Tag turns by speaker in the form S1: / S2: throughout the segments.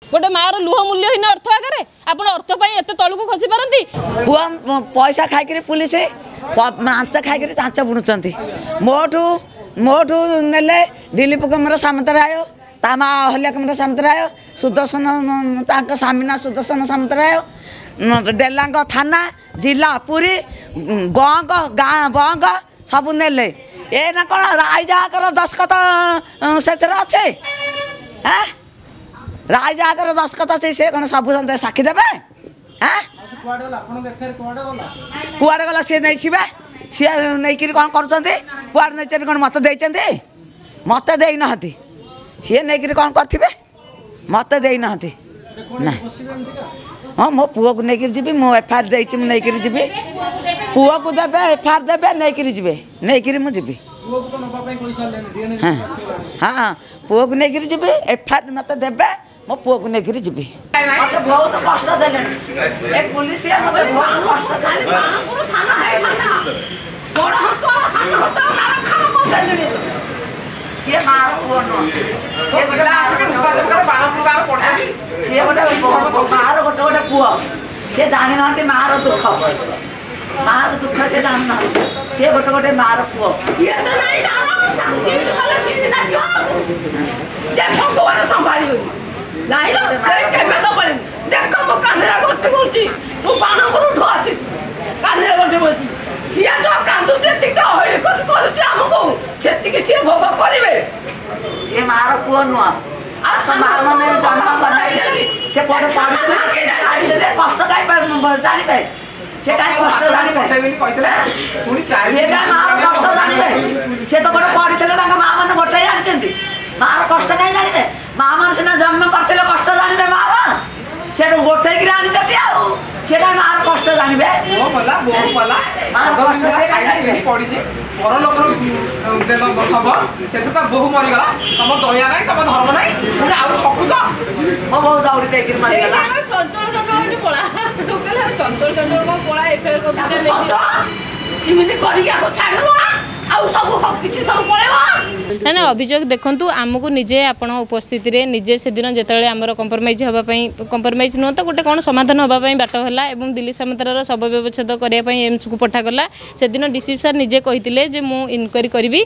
S1: ଗୋଟେ ମାଆର ଲୁହ ମୂଲ୍ୟହୀନ ଅର୍ଥ ଆଗରେ। ଆପଣ ଅର୍ଥ ପାଇଁ ଏତେ ତଳକୁ ଖସି ପାରନ୍ତି?
S2: ପୁଅ ପଇସା ଖାଇକିରି, ପୁଲିସ ମାଞ୍ଚ ଖାଇକିରି ଚାଞ୍ଚ ବୁଣୁଛନ୍ତି। ମୋଠୁ ନେଲେ ଦିଲୀପ କୁମାର ସାମନ୍ତରାୟ, ତା ମା ଅହଲ୍ୟା କୁମାର ସାମନ୍ତରାୟ, ସୁଦର୍ଶନ, ତାଙ୍କ ସ୍ୱାମୀ ସୁଦର୍ଶନ ସାମନ୍ତରାୟ, ଡେଲାଙ୍ଗ ଥାନା, ଜିଲ୍ଲା ପୁରୀ, ବଙ୍କ ଗାଁ ବଙ୍କ ସବୁ ନେଲେ। ଏ ନା କ'ଣ ରାଇଜାକର ଦସ୍ତଖତ ସେଥିରେ ଅଛି? ଆଁ, ରାଇଜାକର ଦସ୍ତଖତ ଅଛି, ସେ କ'ଣ ସବୁ ସାକ୍ଷୀ ଦେବେ? ଆଁ, କୁଆଡ଼େ ଗଲା? ସିଏ ନେଇଯିବେ। ସିଏ ନେଇକିରି କ'ଣ କରୁଛନ୍ତି? କୁଆଡ଼େ ନେଇଛନ୍ତି? କ'ଣ ମୋତେ ଦେଇଛନ୍ତି? ମୋତେ ଦେଇନାହାନ୍ତି। ସିଏ ନେଇକିରି କ'ଣ କରିଥିବେ, ମୋତେ ଦେଇନାହାନ୍ତି ନା। ହଁ, ମୋ ପୁଅକୁ ନେଇକିରି ଯିବି। ମୁଁ ଏଫଆଇଆର୍ ଦେଇଛି, ମୁଁ ନେଇକିରି ଯିବି। ପୁଅକୁ ଦେବେ, ଏଫଆଇଆର୍ ଦେବେ, ନେଇକିରି ଯିବେ, ନେଇକିରି ମୁଁ ଯିବି। ହଁ ହଁ, ପୁଅକୁ ନେଇକିରି ଯିବି। ଏଫଆଇଆର୍ ମୋତେ ଦେବେ, ମୋ ପୁଅକୁ ନେଇକିରି ଯିବି। ମୋତେ ବହୁତ କଷ୍ଟ ଦେଲେଣି ଏ ପୁଲିସ, ମୋତେ ବହୁତ କଷ୍ଟ। ସିଏ ମାର ପୁଅ ନୁହଁ, ସିଏ ଗୋଟେ, ସିଏ ଗୋଟେ ମାର ଗୋଟେ ଗୋଟେ ପୁଅ। ସିଏ ଜାଣିନାହାନ୍ତି ମାର ଦୁଃଖ, ମାର ଦୁଃଖ ସେ ଜାଣିନାହାନ୍ତି। ସିଏ ଗୋଟେ ଗୋଟେ ମାର ପୁଅ।
S1: ଭଗବାନ ସମ୍ଭାଳିବନି ନାଇଁ, କେବେ ସମ୍ଭାଳିନି। ଦେଖ, ମୋ କାନରେ ଘଣ୍ଟି କରୁଛି। ମୁଁ ବାଣପୁରଠୁ ଆସିଛି, କାନରେ ଘଣ୍ଟି ବସିଛି। ସିଏ ଯୋଉ କାନ୍ଦୁଛି, ଏତିକି ହଇରାଣ କରି କରୁଛି ଆମକୁ, ସେତିକି ସିଏ ଭୋଗ କରିବେ।
S2: ସିଏ ମାର ପୁଅ ନୁହଁ। ଆଉ ମା ମାନେ ଜନ୍ମ କରିଥିଲେ, ସେ କୁଆଡ଼େ ପଢିଥିଲେ, କଷ୍ଟ କାଇଁ ଜାଣିବେ? ସେ କାଇଁ କଷ୍ଟ ଜାଣିବେ? ସେ କାଇଁ ମାର କଷ୍ଟ ଜାଣିବେ? ସେ ତ ଗୋଟେ ପଢିଥିଲେ, ତାଙ୍କ ମା ମାନେ ଗୋଟେ ଜାଣିଛନ୍ତି। ମାର କଷ୍ଟ କାଇଁ ଜାଣିବେ? ମା ମାନେ ସିନା ଜନ୍ମ କରିଥିଲେ କଷ୍ଟ ଜାଣିବେ ମାର। ସେଠୁ ଗୋଟେଇକିରି ଆଣିଛନ୍ତି, ଆଉ ସେ କାଇଁ ମାର କଷ୍ଟ ଜାଣିବେ? ମାର କଷ୍ଟ ସେ କାଇଁ ଜାଣିବେ?
S3: ପଡ଼ିଛି ପର ଲୋକର ଦେଲ ଶବ, ସେଥିରେ ତା ବୋହୁ ମରିଗଲା। ତମ ଦୟା ନାହିଁ, ତମ ଧର୍ମ ନାହିଁ, ପୁଣି ଆଉ ଠକୁଛ।
S2: ମୋ ବୋହୁ ଦଉଡ଼ି ଦେଇକିରି ମରିଗଲା।
S1: ଚଞ୍ଚଳ ଚଞ୍ଚଳ ଏଠି ପଳା, ଚଞ୍ଚଳ ଚଞ୍ଚଳ କଣ ପଳା। ଏଫଆଇଆର ଏମିତି କରିକି ଆକୁ ଛାଡ଼ିବ, ଆଉ ସବୁ କିଛି ସବୁ ପଳେଇବ ନା? ନା, ଅଭିଯୋଗ ଦେଖନ୍ତୁ, ଆମକୁ ନିଜେ ଆପଣ ଉପସ୍ଥିତିରେ ନିଜେ ସେଦିନ ଯେତେବେଳେ ଆମର କମ୍ପ୍ରମାଇଜ୍ ହେବା ପାଇଁ, କମ୍ପ୍ରମାଇଜ୍ ନୁହଁ ତ ଗୋଟେ କ'ଣ ସମାଧାନ ହେବା ପାଇଁ ବାଟ ହେଲା ଏବଂ ଦିଲ୍ଲୀପ ସାମନ୍ତରାର ଶବ ବ୍ୟବଚ୍ଛେଦ କରିବା ପାଇଁ ଏମ୍ସକୁ ପଠାଗଲା, ସେଦିନ ଡିସିପି ସାର୍ ନିଜେ କହିଥିଲେ ଯେ ମୁଁ ଇନକ୍ୱାରି କରିବି,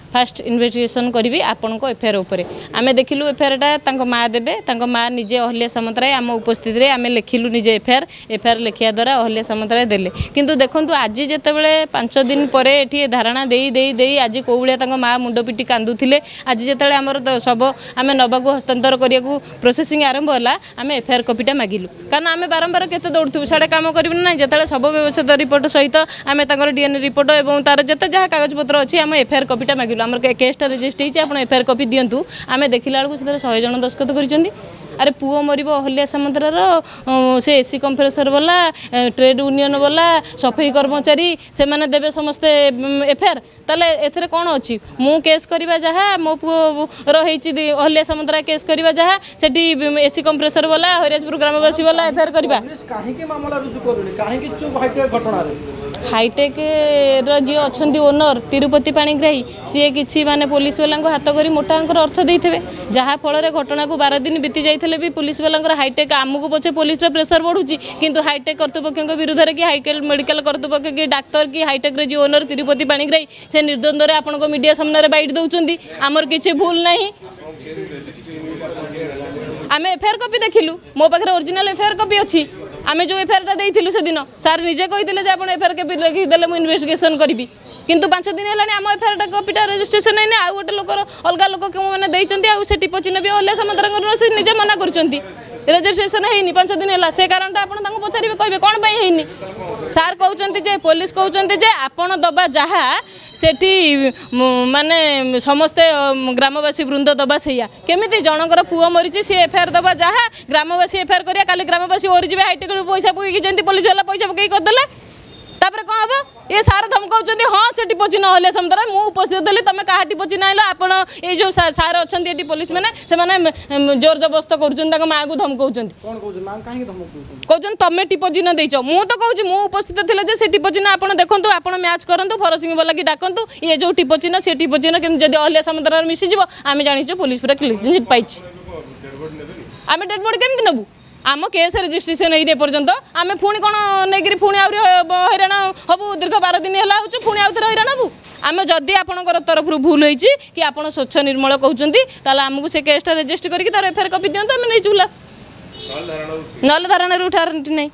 S1: ଫାଷ୍ଟ ଇନଭେଷ୍ଟିଗେସନ୍ କରିବି ଆପଣଙ୍କ ଏଫଆଇଆର୍ ଉପରେ। ଆମେ ଦେଖିଲୁ ଏଫଆଇଆର୍ଟା ତାଙ୍କ ମା ଦେବେ। ତାଙ୍କ ମା ନିଜେ ଅହଲ୍ୟା ସାମନ୍ତରାୟ, ଆମ ଉପସ୍ଥିତିରେ ଆମେ ଲେଖିଲୁ ନିଜେ ଏଫଆଇଆର୍। ଏଫଆଇଆର୍ ଲେଖିବା ଦ୍ୱାରା ଅହଲ୍ୟା ସାମନ୍ତରାୟ ଦେଲେ। କିନ୍ତୁ ଦେଖନ୍ତୁ, ଆଜି ଯେତେବେଳେ 5 ଦିନ ପରେ ଏଠି ଧାରଣା ଦେଇ ଦେଇ ଦେଇ ଆଜି କେଉଁ ଭଳିଆ ତାଙ୍କ ମା ମୁଣ୍ଡ ପିଟି କାନ୍ଦୁଥିଲେ, ଆଜି ଯେତେବେଳେ ଆମର ଶବ ଆମେ ନେବାକୁ ହସ୍ତାନ୍ତର କରିବାକୁ ପ୍ରୋସେସିଂ ଆରମ୍ଭ ହେଲା, ଆମେ ଏଫଆଇଆର୍ କପିଟା ମାଗିଲୁ। କାରଣ ଆମେ ବାରମ୍ବାର କେତେ ଦୌଡ଼ୁଥିବୁ, ସିଆଡ଼େ କାମ କରିବୁ ନା ନାହିଁ? ଯେତେବେଳେ ଶବ ବ୍ୟବଚ୍ଛେଦ ରିପୋର୍ଟ ସହିତ ଆମେ ତାଙ୍କର ଡିଏନ୍ଏ ରିପୋର୍ଟ ଏବଂ ତାର ଯେତେ ଯାହା କାଗଜପତ୍ର ଅଛି, ଆମେ ଏଫଆଇଆର୍ କପିଟା ମାଗିଲୁ। ଆମର କେସ୍ଟା ରେଜିଷ୍ଟର ହେଇଛି, ଆପଣ ଏଫଆଇଆର୍ କପି ଦିଅନ୍ତୁ। ଆମେ ଦେଖିଲା ବେଳକୁ ସେଥିରେ 100 ଜଣ ଦସ୍ତଖତ କରିଛନ୍ତି। ଆରେ, ପୁଅ ମରିବ ଅହଲ୍ୟା ସାମନ୍ତରାର, ସେ ଏସି କମ୍ପ୍ରେସର ବାଲା, ଟ୍ରେଡ୍ ୟୁନିୟନ ବାଲା, ସଫେଇ କର୍ମଚାରୀ, ସେମାନେ ଦେବେ ସମସ୍ତେ ଏଫଆଇଆର୍? ତାହେଲେ ଏଥିରେ କ'ଣ ଅଛି? ମୁଁ କେସ୍ କରିବା ଯାହା, ମୋ ପୁଅର ହେଇଛି ଅହଲ୍ୟା ସାମନ୍ତରା କେସ୍ କରିବା ଯାହା, ସେଠି ଏସି କମ୍ପ୍ରେସର ବାଲା, ହରିରାଜପୁର ଗ୍ରାମବାସୀ ବାଲା ଏଫଆଇଆର୍ କରିବା।
S4: କାହିଁକି ମାମଲା ରୁଜୁ କରୁନି? କାହିଁକି ଚୁପ୍ ହାଇଟେକ୍ ଘଟଣାରେ?
S1: ହାଇଟେକ୍ର ଯିଏ ଅଛନ୍ତି ଓନର ତିରୁପତି ପାଣିଗ୍ରାହୀ, ସିଏ କିଛି ମାନେ ପୋଲିସ ବାଲାଙ୍କୁ ହାତ କରି ମୋଟା ଅଙ୍କର ଅର୍ଥ ଦେଇଥିବେ, ଯାହାଫଳରେ ଘଟଣାକୁ 12 ଦିନ ବିତି ଯାଇଥିଲେ ବି ପୋଲିସ ବାଲାଙ୍କର ହାଇଟେକ୍, ଆମକୁ ପଛେ ପୋଲିସର ପ୍ରେସର ବଢ଼ୁଛି, କିନ୍ତୁ ହାଇଟେକ୍ କର୍ତ୍ତୃପକ୍ଷଙ୍କ ବିରୁଦ୍ଧରେ କି ହାଇଟେକ୍ ମେଡ଼ିକାଲ କର୍ତ୍ତୃପକ୍ଷ କି ଡାକ୍ତର କି ହାଇଟେକ୍ର ଯିଏ ଓନର ତିରୁପତି ପାଣିଗ୍ରାହୀ, ସେ ନିର୍ଦ୍ୱନ୍ଦ୍ୱରେ ଆପଣଙ୍କ ମିଡ଼ିଆ ସାମ୍ନାରେ ବାଇଟ୍ ଦେଉଛନ୍ତି, ଆମର କିଛି ଭୁଲ ନାହିଁ। ଆମେ ଏଫଆଇଆର୍ କପି ଦେଖିଲୁ, ମୋ ପାଖରେ ଅରିଜିନାଲ ଏଫଆଇଆର୍ କପି ଅଛି। ଆମେ ଯେଉଁ ଏଫଆଇଆର୍ଟା ଦେଇଥିଲୁ, ସେଦିନ ସାର୍ ନିଜେ କହିଥିଲେ ଯେ ଆପଣ ଏଫଆଇଆର୍ କପି ଲେଖିଦେଲେ ମୁଁ ଇନଭେଷ୍ଟିଗେସନ୍ କରିବି। କିନ୍ତୁ 5 ଦିନ ହେଲାଣି ଆମ ଏଫଆଇଆର୍ଟା କପିଟା ରେଜିଷ୍ଟ୍ରେସନ୍ ହେଇନି। ଆଉ ଗୋଟେ ଲୋକର, ଅଲଗା ଲୋକ କେଉଁମାନେ ଦେଇଛନ୍ତି, ଆଉ ସେ ଟିପ ଚିହ୍ନ ବି ଅହଲ୍ୟା ସାମନ୍ତରାଙ୍କର, ସେ ନିଜେ ମନା କରୁଛନ୍ତି। ରେଜିଷ୍ଟ୍ରେସନ୍ ହେଇନି, 5 ଦିନ ହେଲା। ସେ କାରଣଟା ଆପଣ ତାଙ୍କୁ ପଚାରିବେ, କହିବେ କ'ଣ ପାଇଁ ହେଇନି। ସାର୍ କହୁଛନ୍ତି ଯେ, ପୋଲିସ କହୁଛନ୍ତି ଯେ ଆପଣ ଦେବା ଯାହା, ସେଠି ମାନେ ସମସ୍ତେ ଗ୍ରାମବାସୀ ବୃନ୍ଦ ଦେବା ସେଇଆ। କେମିତି ଜଣଙ୍କର ପୁଅ ମରିଛି, ସିଏ ଏଫଆଇଆର୍ ଦେବା ଯାହା, ଗ୍ରାମବାସୀ ଏଫଆଇଆର୍ କରିବା? କାଲି ଗ୍ରାମବାସୀ ଓରିଯିବେ ହାଇଟେକ୍ରୁ ପଇସା ପକେଇକି, ଯେମିତି ପୋଲିସ ବାଲା ପଇସା ପକେଇକି କରିଦେଲେ, ତାପରେ କ'ଣ ହେବ? ଏ ସାର୍ ଧମକାଉଛନ୍ତି, ହଁ ସେ ଟିପ ଚିହ୍ନ ଅହଲ୍ୟା ସାମନ୍ତରା, ମୁଁ ଉପସ୍ଥିତ ଥିଲି, ତମେ କାହା ଟିପ ଚିହ୍ନ ଆଣିଲ? ଆପଣ ଏଇ ଯେଉଁ ସାର୍ ଅଛନ୍ତି ଏଠି ପୋଲିସ ମାନେ, ସେମାନେ ଜୋର ଜବରଦସ୍ତ କରୁଛନ୍ତି, ତାଙ୍କ ମାଆକୁ ଧମକାଉଛନ୍ତି। କହୁଛନ୍ତି ତମେ ଟିପ ଚିହ୍ନ ଦେଇଛ। ମୁଁ ତ କହୁଛି, ମୁଁ ଉପସ୍ଥିତ ଥିଲେ ଯେ ସେ ଟିପ ଚିହ୍ନ ଆପଣ ଦେଖନ୍ତୁ, ଆପଣ ମ୍ୟାଚ୍ କରନ୍ତୁ, ଫରସିଂ ବାଲାକି ଡାକନ୍ତୁ। ଇଏ ଯେଉଁ ଟିପ ଚିହ୍ନ, ସେ ଟିପ ଚିହ୍ନ କେମିତି ଯଦି ଅହଲ୍ୟା ସାମନ୍ତରାର ମିଶିଯିବ, ଆମେ ଜାଣିଛୁ ପୋଲିସ ପୁରା କ୍ଲିନ୍ ଚିଟ୍ ପାଇଛି। ଆମେ ଡେଡ୍ ବଡି କେମିତି ନେବୁ? ଆମ କେସ୍ ରେଜିଷ୍ଟ୍ରେସନ୍ ହେଇନି ଏପର୍ଯ୍ୟନ୍ତ। ଆମେ ପୁଣି କ'ଣ ନେଇକିରି ପୁଣି ଆହୁରି ହଇରାଣ ହବୁ? ଦୀର୍ଘ 12 ଦିନ ହେଲା ହେଉଛୁ, ପୁଣି ଆଉ ଥରେ ହଇରାଣ ହବୁ ଆମେ? ଯଦି ଆପଣଙ୍କର ତରଫରୁ ଭୁଲ ହେଇଛି କି ଆପଣ ସ୍ୱଚ୍ଛ ନିର୍ମଳ କହୁଛନ୍ତି, ତାହେଲେ ଆମକୁ ସେ କେସ୍ଟା ରେଜିଷ୍ଟ୍ରି କରିକି ତାର ଏଫଆଇଆର କପି ଦିଅନ୍ତୁ, ଆମେ ନେଇଯିବୁ ଲାସ୍। ନହେଲେ ଧାରଣାରୁ ଉଠାର ନାହିଁ।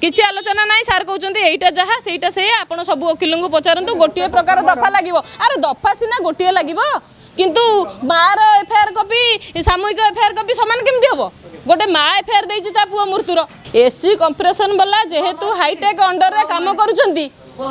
S1: କିଛି ଆଲୋଚନା ନାହିଁ। ସାର୍ କହୁଛନ୍ତି ଏଇଟା ଯାହା ସେଇଟା ସେଇଆ, ଆପଣ ସବୁ ଓକିଲଙ୍କୁ ପଚାରନ୍ତୁ, ଗୋଟିଏ ପ୍ରକାର ଦଫା ଲାଗିବ। ଆରେ ଦଫା ସିନା ଗୋଟିଏ ଲାଗିବ, କିନ୍ତୁ ମାର ଏଫଆଇଆର କପି, ସାମୂହିକ ଏଫଆଇଆର କପି ସମାନ କେମିତି ହବ? ଗୋଟେ ମା ଏଫଆଇଆର ଦେଇଛି ତା ପୁଅ ମୃତ୍ୟୁର। ଏସି କମ୍ପ୍ରେସନ ବାଲା ଯେହେତୁ ହାଇଟେକ୍ ଅଣ୍ଡରରେ କାମ କରୁଛନ୍ତି,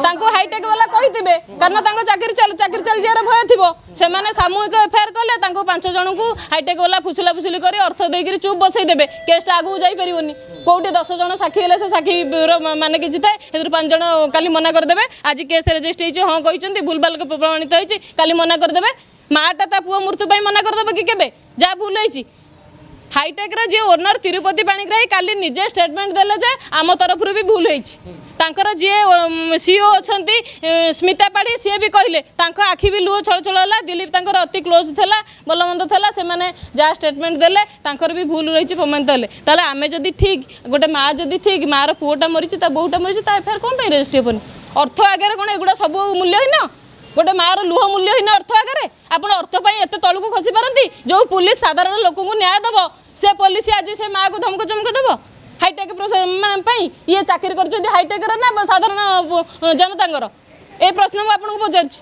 S1: ତାଙ୍କୁ ହାଇଟେକ୍ ବାଲା କହିଥିବେ, କାରଣ ତାଙ୍କ ଚାକିରି ଚାଲି ଚାଲିଯିବାର ଭୟ ଥିବ। ସେମାନେ ସାମୂହିକ ଏଫଆଇଆର କଲେ ତାଙ୍କୁ 5 ଜଣଙ୍କୁ ହାଇଟେକ୍ ବାଲା ଫୁସୁଲା ଫୁସୁଲି କରି ଅର୍ଥ ଦେଇକିରି ଚୁପ୍ ବସେଇ ଦେବେ, କେସ୍ଟା ଆଗକୁ ଯାଇପାରିବନି। କୋଉଠି 10 ଜଣ ସାକ୍ଷୀ ହେଲେ ସେ ସାକ୍ଷୀର ମାନେ କିଛି ଥାଏ, ସେଥିରୁ 5 ଜଣ କାଲି ମନା କରିଦେବେ। ଆଜି କେସ୍ ରେଜିଷ୍ଟ୍ରି ହେଇଛି, ହଁ କହିଛନ୍ତି, ଭୁଲଭାଲ ପ୍ରମାଣିତ ହେଇଛି, କାଲି ମନା କରିଦେବେ। ମାଟା ତା ପୁଅ ମୃତ୍ୟୁ ପାଇଁ ମନା କରିଦେବ କି କେବେ, ଯାହା ଭୁଲ ହେଇଛି? ହାଇଟେକ୍ର ଯିଏ ଓନର ତିରୁପତି ପାଣିଗ୍ରାହୀ କାଲି ନିଜେ ଷ୍ଟେଟମେଣ୍ଟ ଦେଲେ ଯେ ଆମ ତରଫରୁ ବି ଭୁଲ ହେଇଛି। ତାଙ୍କର ଯିଏ ସିଓ ଅଛନ୍ତି ସ୍ମିତା ପାଢ଼ୀ, ସିଏ ବି କହିଲେ, ତାଙ୍କ ଆଖି ବି ଲୁହ ଛଳଛଳ ହେଲା। ଦିଲୀପ ତାଙ୍କର ଅତି କ୍ଲୋଜ୍ ଥିଲା, ଭଲ ମନ୍ଦ ଥିଲା। ସେମାନେ ଯାହା ଷ୍ଟେଟମେଣ୍ଟ ଦେଲେ, ତାଙ୍କର ବି ଭୁଲ ରହିଛି ପ୍ରମାଣିତ ହେଲେ। ତାହେଲେ ଆମେ ଯଦି ଠିକ୍, ଗୋଟେ ମା ଯଦି ଠିକ୍, ମାର ପୁଅଟା ମରିଛି, ତା ବୋହୂଟା ମରିଛି, ତା ଏଫଆଇଆର କ'ଣ ପାଇଁ ରେଜିଷ୍ଟ୍ରି ହେବନି? ଅର୍ଥ ଆଗରେ କ'ଣ ଏଗୁଡ଼ା ସବୁ ମୂଲ୍ୟହୀନ? ଗୋଟେ ମାର ଲୁହ ମୂଲ୍ୟହୀନ ଅର୍ଥ ଆଗରେ? ଆପଣ ଅର୍ଥ ପାଇଁ ଏତେ ତଳକୁ ଖସି ପାରନ୍ତି? ଯେଉଁ ପୁଲିସ ସାଧାରଣ ଲୋକଙ୍କୁ ନ୍ୟାୟ ଦେବ, ସେ ପୋଲିସ ଆଜି ସେ ମାଆକୁ ଧମକ ଚମକ ଦେବ ହାଇଟେକ୍ ପାଇଁ। ଇଏ ଚାକିରି କରୁଛନ୍ତି ହାଇଟେକ୍ର ନା ସାଧାରଣ ଜନତାଙ୍କର? ଏ ପ୍ରଶ୍ନ ମୁଁ ଆପଣଙ୍କୁ ପଚାରୁଛି।